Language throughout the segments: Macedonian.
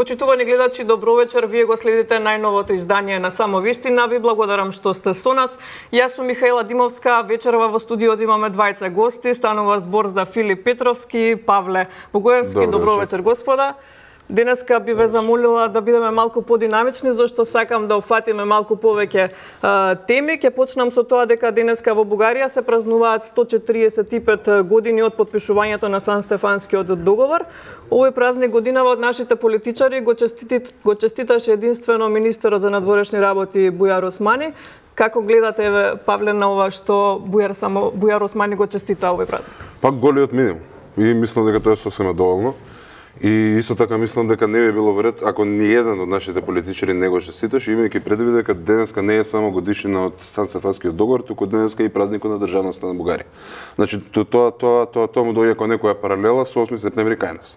Почитувани гледачи, добро вечер. Вие го следите најновото издание на Само вистина. Ви благодарам што сте со нас. Јас сум Михаела Димовска. Вечерва во студиото имаме двајца гости. Станува збор за Филип Петровски, Павле Богоевски. Добро вечер, господа. Денеска би ве замолила да бидеме малку подинамични, зашто сакам да опфатиме малку повеќе теми. Ќе почнам со тоа дека денеска во Бугарија се празнуваат 145 години од потпишувањето на Сан-Стефанскиот договор. Овој празник годинава од нашите политичари го честиташе единствено министерот за надворешни работи Бујар Османи. Како гледате, Павле, на ова што Бујар Османи го честита овој празник? Пак голиот минимум. И мислам дека тоа е сосема доволно. И исто така мислам дека не би било вред ако ни еден од нашите политичари не го честиташе, имајќи предвид дека денеска не е само годишнина од Сан-Стефанскиот договор, туку денеска и празникот на државноста на Бугарија. Значи тоа му доаѓа како некоја паралела со 8 септември кај нас.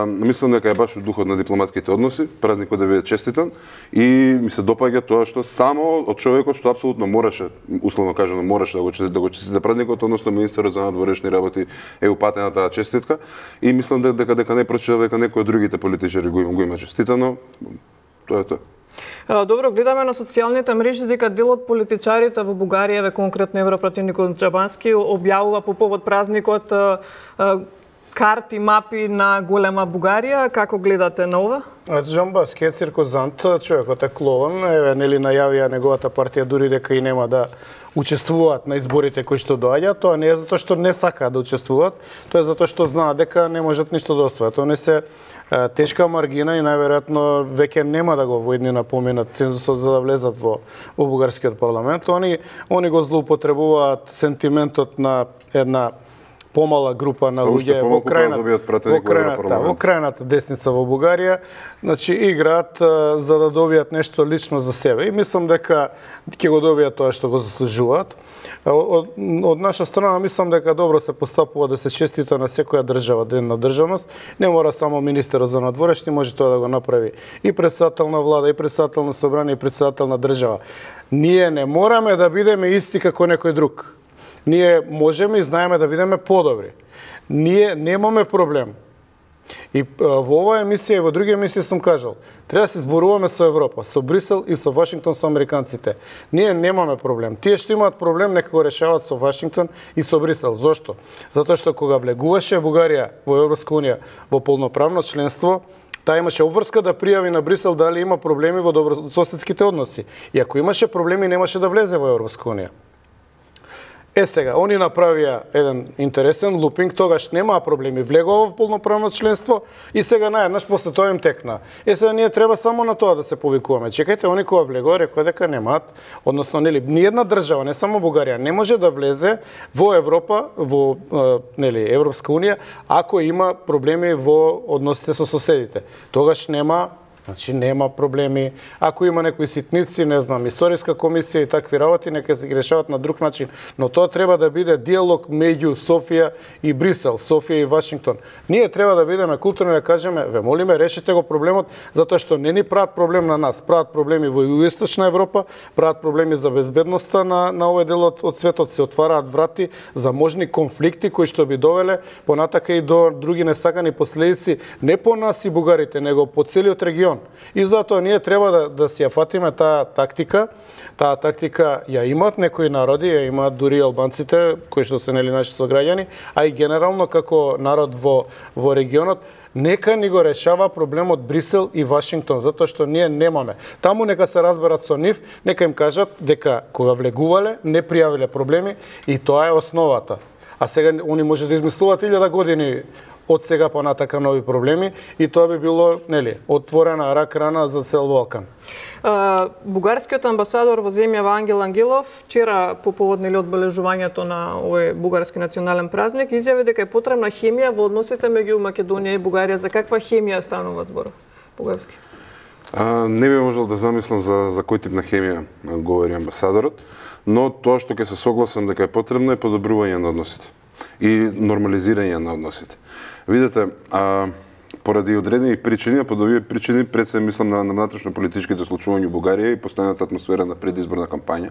Мислам дека е баш во духот на дипломатските односи, празникот да биде честитан и ми се допаѓа тоа што само од човекот што апсолутно мораше, условно кажано, мораше да го честита празникот, односно министерот за надворешни работи е упатена таа честитка и мислам дека не прочитав дека некои од другите политичари го има честитано. Тоа е тоа. Добро, гледаме на социјалните мрежи дека дел од политичарите во Бугарија, конкретно европративникот Чабански, објавува по повод празникот карти, мапи на голема Бугарија. Како гледате на ова? Джамбаски е циркозант, човекот е клован, нели најавија неговата партија дури дека и нема да учествуваат на изборите кои што доаѓаат. Тоа не е затоа што не сакаат да учествуваат, тоа е затоа што знаат дека не можат ништо да освојат. Они се тешка маргина и најверојатно веќе нема да го во иднина поминат цензусот за да влезат во бугарскиот парламент. Они го злоупотребуваат сентиментот на една помала група на луѓе во крајната десница во Бугарија, значи играат за да добијат нешто лично за себе и мислам дека ќе го добијат тоа што го заслужуваат. Од наша страна мислам дека добро се постапува да се честита на секоја држава ден на државност. Не мора само министерот за надворешни, може тоа да го направи и председател на влада, и председател на собрание, и председател на држава. Ние не мораме да бидеме исти како некој друг. Ние можеме и знаеме да бидеме подобри. Ние немаме проблем. И во оваа емисија и во други емисии сум кажал, треба да се зборуваме со Европа, со Брисел и со Вашингтон, со американците. Ние немаме проблем. Тие што имаат проблем нека го решаваат со Вашингтон и со Брисел. Зошто? Затоа што кога влегуваше Бугарија во Европска унија во полноправно членство, таа имаше обврска да пријави на Брисел дали има проблеми во добрососедските односи. И ако имаше проблеми немаше да влезе во Европска унија. Сега, они направија еден интересен лупинг, тогаш немаа проблеми, влегува во полноправно членство и сега наеднаш после тоа им текна. Сега ние треба само на тоа да се повикуваме. Чекајте, они кога влегува рекоа дека немаат, односно нели ниедна држава, не само Бугарија, не може да влезе во Европа, во нели Европска унија ако има проблеми во односите со соседите. Тогаш нема проблеми. Ако има некои ситници, не знам, историска комисија и такви работи, нека се ги решават на друг начин. Но тоа треба да биде диалог меѓу Софија и Брисел, Софија и Вашингтон. Ние треба да бидеме културни да кажеме, ве молиме, решете го проблемот, затоа што не ни прават проблем на нас, прават проблеми во Југоисточна Европа, прават проблеми за безбедноста на овој дел од светот, се отвараат врати за можни конфликти кои што би довеле понатака и до други несакани последици, не по нас и бугарите, него по целиот регион. И затоа ние треба да си ја фатиме таа тактика. Таа тактика ја имаат некои народи, ја имаат дури албанците, кои што се нели наши сограѓани, а и генерално како народ во регионот. Нека ни го решава проблемот Брисел и Вашингтон, затоа што ние немаме. Таму нека се разберат со нив, нека им кажат дека кога влегувале, не пријавиле проблеми и тоа е основата. А сега они може да измислуваат 1000 години од сега понатака нови проблеми и тоа би било нели отворена рак-рана за цел Балкан. Бугарскиот амбасадор во земјава Ангел Ангелов вчера по повод нели одбележувањето на овој бугарски национален празник изјави дека е потребна хемија во односите меѓу Македонија и Бугарија. За каква хемија станува збор? Бугарски. Не би можел да замислам за кој тип на хемија говори амбасадорот, но тоа што ќе се согласам дека е потребно е подобрување на односите и нормализирање на односите. Видете, поради одредени причини, а под овие причини пред се мислам на внатрешно политичките случувања во Бугарија и постојаната атмосфера на предизборна кампања.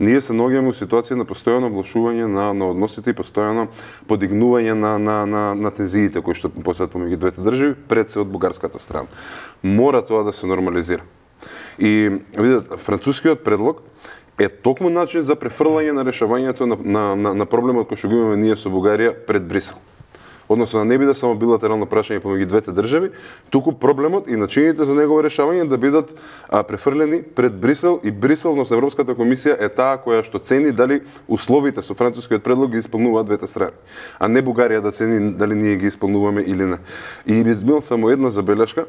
Ние се наоѓаме во ситуација на постојано влошување на односите и постојано подигнување на тензиите кои што постојат помеѓу двете држави пред се од бугарската страна. Мора тоа да се нормализира. И видете, францускиот предлог е токму начин за префрлање на решавањето на проблемот кој што го имаме ние со Бугарија пред Брисел. Односно, да не биде само билатерално прашање помеѓу двете држави, туку проблемот и начините за негово решавање да бидат префрлени пред Брисел и Брисел, односно Европската комисија е таа која што цени дали условите со францускиот предлог ги исполнуваат двете страни, а не Бугарија да цени дали ние ги исполнуваме или не. И измил само една забелешка.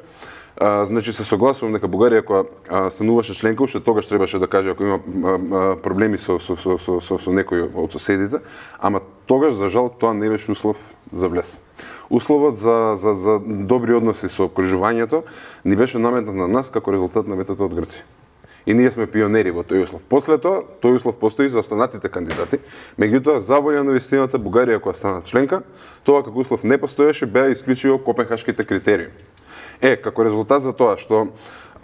Значи се согласувам дека Бугарија која стануваше членка, уште тогаш требаше да каже ако има проблеми со некој од соседите, ама тогаш за жал тоа не беше услов за влез. Условот за добри односи со окружувањето ни беше наметнат на нас како резултат на ветото од Грција. И ние сме пионери во тој услов. После тоа, тој услов постои за останатите кандидати, меѓутоа за волја на вистината Бугарија која стана членка, тоа како услов не постоеше, беа исклучиво копенхашките критериуми. Како резултат за тоа што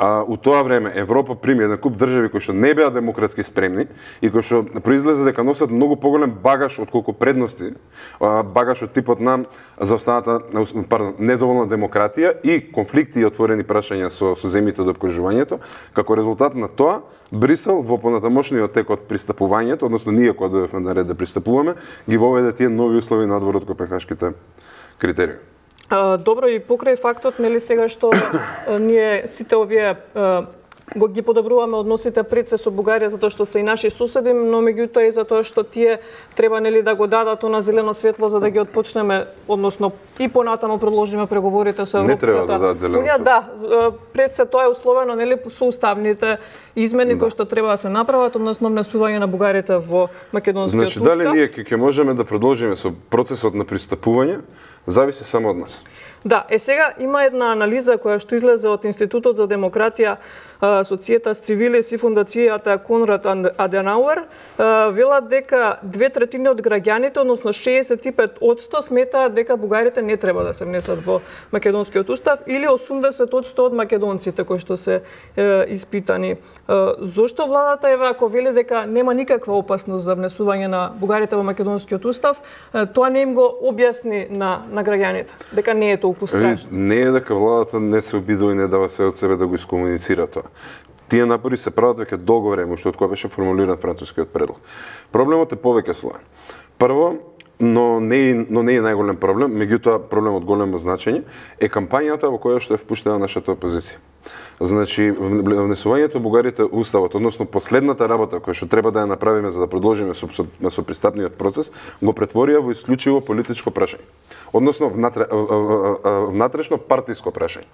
у тоа време Европа прими еден куп држави кои што не беа демократски спремни и кои што произлезе дека носат многу поголем багаж отколку предности, багаж од типот на недоволна демократија и конфликти и отворени прашања со земјите од опкружувањето. Како резултат на тоа, Брисел во понатамошниот тек од пристапувањето, односно ние кога дојдовме на ред да пристапуваме, ги воведе тие нови услови надвор од копенхашките критериуми. Добро, и покрај фактот, нели сега што ние сите овие ги подобруваме односите пред се со Бугарија затоа што се и наши соседи, но меѓутоа и затоа што тие треба нели да го дадат на зелено светло за да ги отпочнеме, односно и понатаму продолжиме преговорите со Европската. Не треба да дадат зелено светло. Да, пред се тоа е условено нели со уставните измени кои што треба да се направат, односно внесување на бугарите во македонскиот устав. Значи, дали ние ќе можеме да продолжиме со процесот на пристапување, зависи само од нас. Да, сега има една анализа која што излезе од Институтот за демократија, Societas Civilis и фундацијата Конрад Аденауер, велат дека 2/3 од граѓаните, односно 65% сметаат дека бугарите не треба да се внесат во македонскиот устав или 80% од македонците кои што се испитани. Зошто владата ако вели дека нема никаква опасност за внесување на бугарите во македонскиот устав, тоа не им го објасни на граѓаните, дека не е толку страшно? Не е дека владата не се обидува и не дава се од себе да го искомуницира тоа. Тие напори се прават веќе долго време, уште од кога беше формулиран францускиот предлог. Проблемот е повеќе слоен. Прво, но не е најголем проблем, меѓутоа проблем од големо значење е кампањата во која што е впуштена нашата опозиција. Значи, внесувањето бугарите уставот, односно последната работа која што треба да ја направиме за да продолжиме со пристапниот процес, го претворија во исклучиво политичко прашање. Односно внатрешно партиско прашање.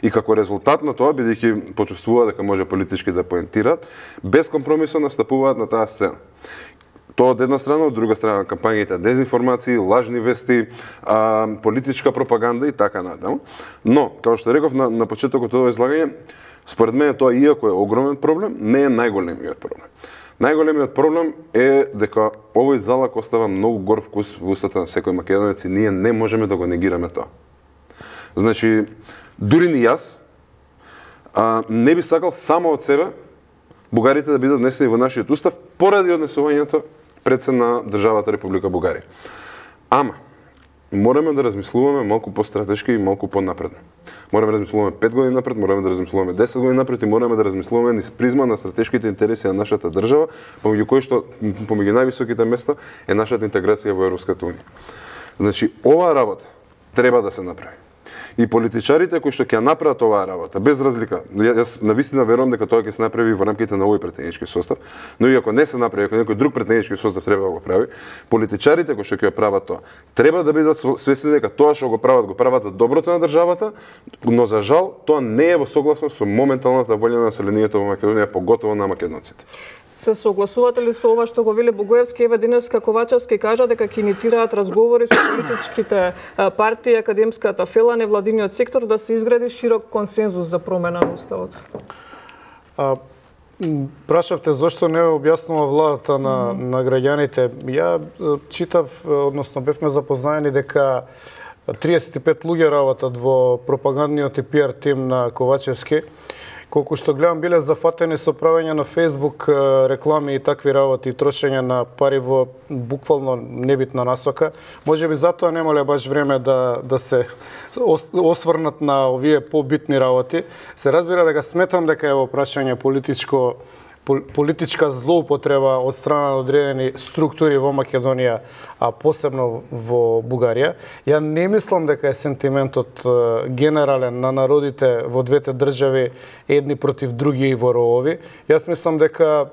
И како резултат на тоа, бидејќи почувствува дека може политички да поентираат, без компромисо настапуваат на таа сцена. Тоа од една страна, од друга страна кампањите дезинформации, лажни вести, политичка пропаганда и така натаму. Но, како што реков на почетокот од ова излагање, според мене тоа иако е огромен проблем, не е најголемиот проблем. Најголемиот проблем е дека овој залак остава многу гор вкус во устата на секој македонец и ние не можеме да го негираме тоа. Значи, дури ни јас не би сакал само од себе бугарите да бидат внесени во нашиот устав поради однесувањето пред се на државата Република Бугарија. Ама, мораме да размислуваме малку постратешки и малку понапредно. Мораме да размислуваме 5 години напред, мораме да размислуваме 10 години напред и мораме да размислуваме низ призма на стратешките интереси на нашата држава, помеѓу највисоките места е нашата интеграција во Европската унија. Значи, оваа работа треба да се направи. И политичарите кои што ќе направат оваа работа, без разлика, јас навистина верувам дека тоа ќе се направи во рамките на овој претенички состав, но и ако не се направи, ако некој друг претенички состав треба да го прави, политичарите кои што ќе прават тоа, треба да бидат свесни дека тоа што го прават за доброто на државата, но за жал тоа не е во согласност со моменталната волја на населението во Македонија, поготово на македонците. Се согласувате ли со ова што го вели Богоевски? Еве денеска Ковачевски кажа дека ќе иницираат разговори со политичките партии, академската фела, невладиниот сектор да се изгради широк консензус за промена на уставот. Прашавте зошто не објаснува владата на граѓаните. Ја читав, односно бевме запознаени дека 35 луѓе работат во пропагандниот и пиар тим на Ковачевски. Колку што гледам, биле зафатени со правење на Facebook реклами и такви работи, и трошење на пари во буквално небитна насока. Можеби затоа немале баш време да се осврнат на овие побитни работи. Се разбира дека сметам дека е во прашање политичка злоупотреба од страна на одредени структури во Македонија, а посебно во Бугарија. Ја не мислам дека е сентиментот генерален на народите во двете држави едни против други и во ровови. Јас мислам дека,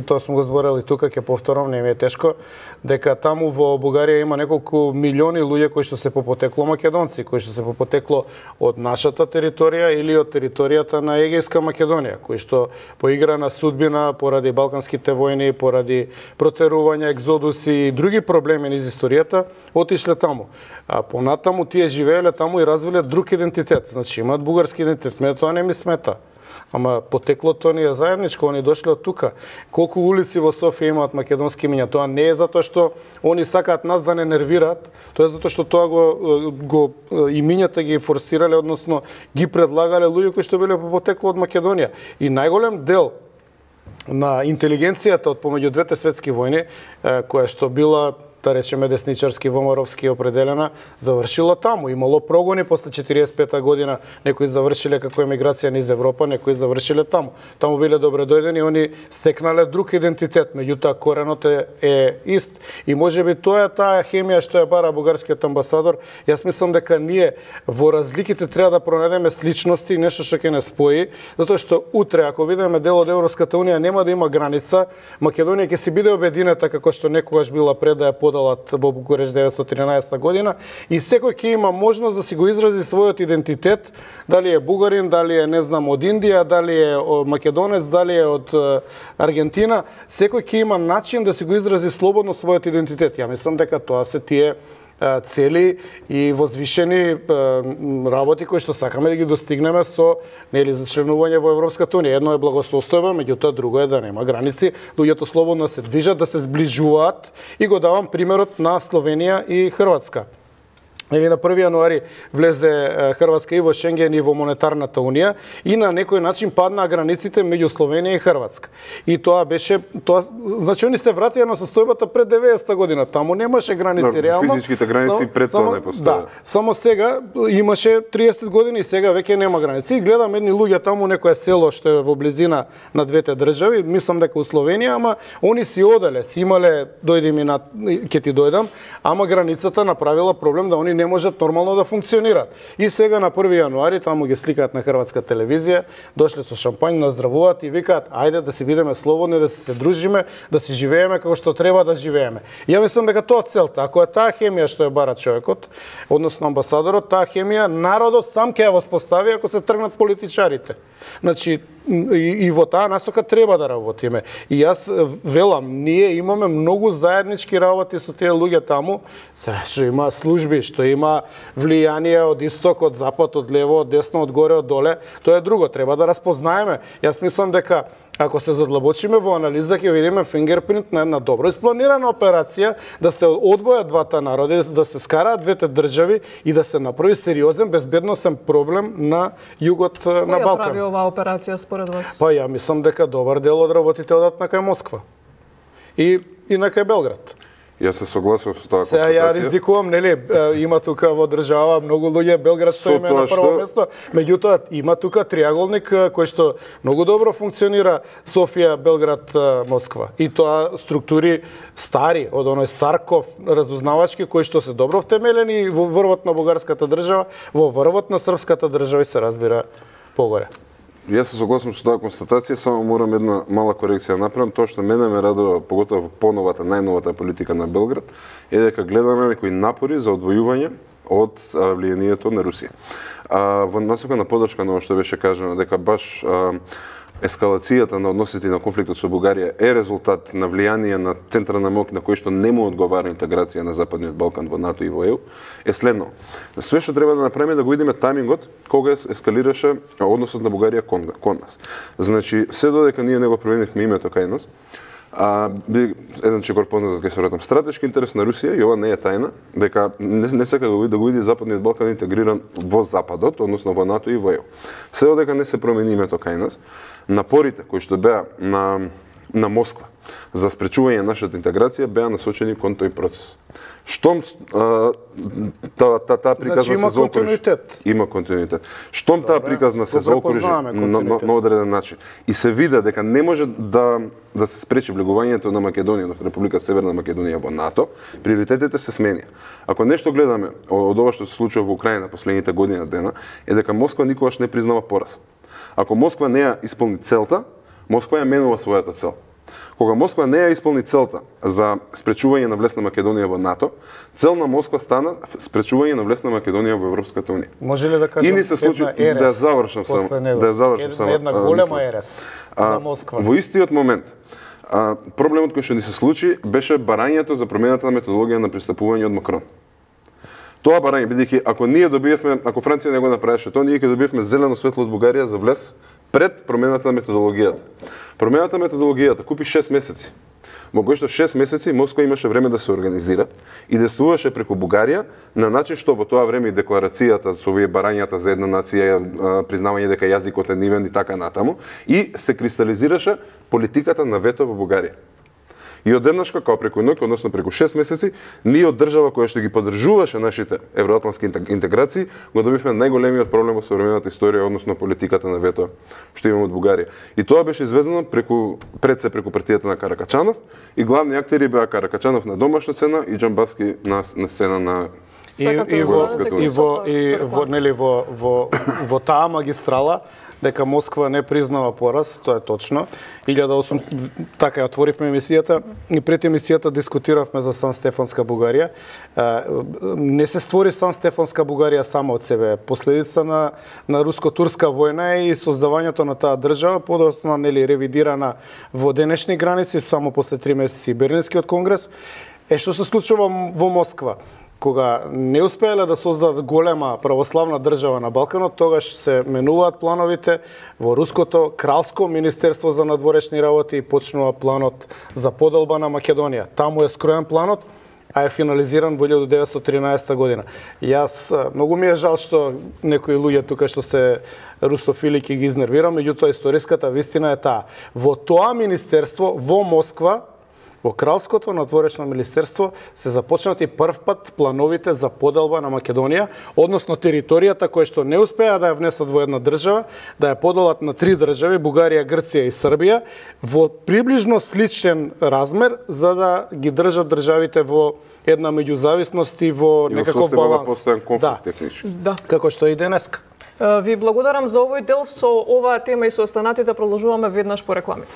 тоа сум го зборел и тука, ќе повторам, не ми е тешко, дека таму во Бугарија има неколку милиони луѓе кои што се по потекло македонци, кои што се по потекло од нашата територија или од територијата на Егејска Македонија, кои што по игра на судбина, поради балканските војни, поради протерување, екзодуси и други проблеми низ историјата, отишле таму. А понатаму тие живееле таму и развиле друг идентитет. Значи имаат бугарски идентитет. Мене тоа не ми смета. Ама потеклото ни е заедничко, они дошле од тука. Колку улици во Софија имаат македонски имиња, тоа не е затоа што они сакаат нас да не нервираат, тоа е затоа што тоа го имињата ги форсирале, односно ги предлагале луѓе кои што биле по потекло од Македонија. И најголем дел на интелигенцијата од помеѓу двете светски војни, која што била, да речеме, десничарски, вомаровски определена, завршила таму. Имало прогони после 45-та година, некои завршиле како емиграција низ Европа, некои завршиле таму. Таму биле добредојдени, они стекнале друг идентитет, меѓутоа коренот е ист. И можеби тоа е таа хемија што ја бара бугарскиот амбасадор. Јас мислам дека ние во разликите треба да пронајдеме сличности и нешто што ќе не спои, затоа што утре, ако бидеме дел од Европската унија, нема да има граница, Македонија ќе си биде обединета како што некогаш била пред да ја подалат во Букуреш 1913 година, и секој ќе има можност да си го изрази својот идентитет, дали е бугарин, дали е, не знам, од Индија, дали е македонец, дали е од Аргентина, секој ќе има начин да си го изрази слободно својот идентитет. Ја мислам дека тоа се тие цели и возвишени работи кои што сакаме да ги достигнеме со за членување во Европската унија. Едно е благосостојба, меѓутоа друго е да нема граници, луѓето слободно се движат, да се зближуваат, и го давам примерот на Словенија и Хрватска. Или на 1 јануари влезе Хрватска и во Шенген и во монетарната унија, и на некој начин паднаа границите меѓу Словенија и Хрватска. И тоа беше, значи они се вратија на состојбата пред 90-та година. Таму немаше граници реално. Физичките граници пред тоа не постоја. Да, само сега имаше 30 години и сега веќе нема граници. И гледам едни луѓе таму, некое село што е во близина на двете држави, мислам дека у Словенија, ама они си оделе, си имале дојди ми на ќе ти дојдам, ама границата направила проблем да они не можат нормално да функционираат. И сега на 1 јануари таму ги сликаат на хрватска телевизија, дошле со шампањ, наздравуваат и викаат ајде да си бидеме слободни, да се дружиме, да си живееме како што треба да живееме. Ја мислам дека тоа целта. Ако е таа хемија што ја бара човекот, односно амбасадорот, таа хемија народот сам ќе ја воспостави ако се тргнат политичарите. Значи, и во таа насока треба да работиме. И јас велам, ние имаме многу заеднички работи со тие луѓе таму, што има служби, што има влијание од исток, од запад, од лево, од десно, од горе, од доле, тоа е друго, треба да распознаеме. Јас мислам дека ако се задлабочиме во анализа, ќе видиме фингерпринт на една добро испланирана операција да се одвојат двата народи, да се скараат двете држави и да се направи сериозен безбедносен проблем на југот на Балкан. Која прави оваа операција според вас? Па ја мислам дека добар дел од работите одат на кај Москва и на кај Белград. Јас се согласувам со таа констатација. Сега ја ризикувам, нели, има тука во држава многу луѓе, Белград што име на прво место, меѓутоа има тука триаголник кој што многу добро функционира, Софија, Белград, Москва. И тоа структури стари, од оној Старков, разузнавачки, кои што се добро втемелени во врвот на бугарската држава, во врвот на српската држава и се разбира погоре. Јас се согласувам со таа констатација, само морам една мала корекција да направам. Тоа што мене ме радува, поготово во поновата, најновата политика на Белград, е дека гледаме некои напори за одвојување од влијанието на Русија. Во насока на подршка на ова што беше кажано, дека баш ескалацијата на односите на конфликтот со Бугарија е резултат на влијание на централна моќ на кој што не му одговара интеграција на Западниот Балкан во НАТО и во ЕУ, е следно. Све што треба да направиме да го видиме тајмингот кога ескалираше односот на Бугарија кон нас. Значи, се додека ние не го променивме името кај нас, еден чекор познат, ќе се вратам, стратешки интерес на Русија, и ова не е тајна, дека не сака да го види Западниот Балкан интегриран во Западот, односно во НАТО и во ЕУ. Се додека не се промени името кај нас, напорите кои што беа на Москва за спречување на нашата интеграција беа насочени кон тој процес. Штом таа приказна се заокружи, има континуитет. Штом таа приказна се заокружи на одреден начин и се види дека не може да се спречи влегувањето на Македонија, на Република Северна Македонија во НАТО, приоритетите се сменија. Ако нешто гледаме од ова што се случува во Украина последните години дена, е дека Москва никогаш не признава пораз. Ако Москва не ја исполни целта, Москва ја менува својата цел. Кога Москва не ја исполни целта за спречување на влез на Македонија во НАТО, цел на Москва стана спречување на влез на Македонија во Европската унија. Може ли да кажем една ерес? Да завршам само. Една голема ерес за Москва. Во истиот момент, проблемот кој што ни се случи беше барањето за промената на методологија на пристапување од Макрон. Тоа барање, бидејќи ако Франција не го направеше тоа, ние ќе добиевме зелено светло од Бугарија за влез пред промената на методологијата. Промената на методологијата купи 6 месеци. Во кои што 6 месеци Москва имаше време да се организира и действуваше преку Бугарија на начин што во тоа време и декларацијата со овие барањата за една нација, признавање дека јазикот е нивен и така натаму, и се кристализираше политиката на вето во Бугарија. И одеднашка, као преку ноќ, односно преку 6 месеци, ние од држава која што ги поддржуваше нашите евроатлантски интеграции, го добивме најголемиот проблем во современата историја, односно политиката на вето што имаме од Бугарија. И тоа беше изведено преку партијата на Каракачанов, и главни актери беа Каракачанов на домашна сцена и Џамбаски на сцена на во таа магистрала дека Москва не признава пораз, тоа е точно. Така ја отворивме емисијата и пред емисијата дискутиравме за Сан Стефанска Бугарија. Не се створи Сан Стефанска Бугарија само од себе. Последица на руско-турска војна и создавањето на таа држава, подоцна ревидирана во денешни граници само после 3 месеци Берлинскиот конгрес. Што се случува во Москва? Кога не успеале да создадат голема православна држава на Балканот, тогаш се менуваат плановите во Руското кралско министерство за надворешни работи и почнува планот за поделба на Македонија. Таму е скроен планот, а е финализиран во 1913 година. Јас многу ми е жал што некои луѓе тука што се русофили ќе ги изнервирам, меѓутоа историската вистина е таа. Во тоа министерство во Москва, во Кралското надворешно министерство, се започнати прв пат плановите за поделба на Македонија, односно територијата која што не успеа да ја внесат во една држава, да ја поделат на 3 држави, Бугарија, Грција и Србија, во приближно сличен размер, за да ги држат државите во една меѓузависност и во некаков баланс. Да. Како што и денеска. Ви благодарам за овој дел. Со оваа тема и со останатите продолжуваме веднаш по рекламите.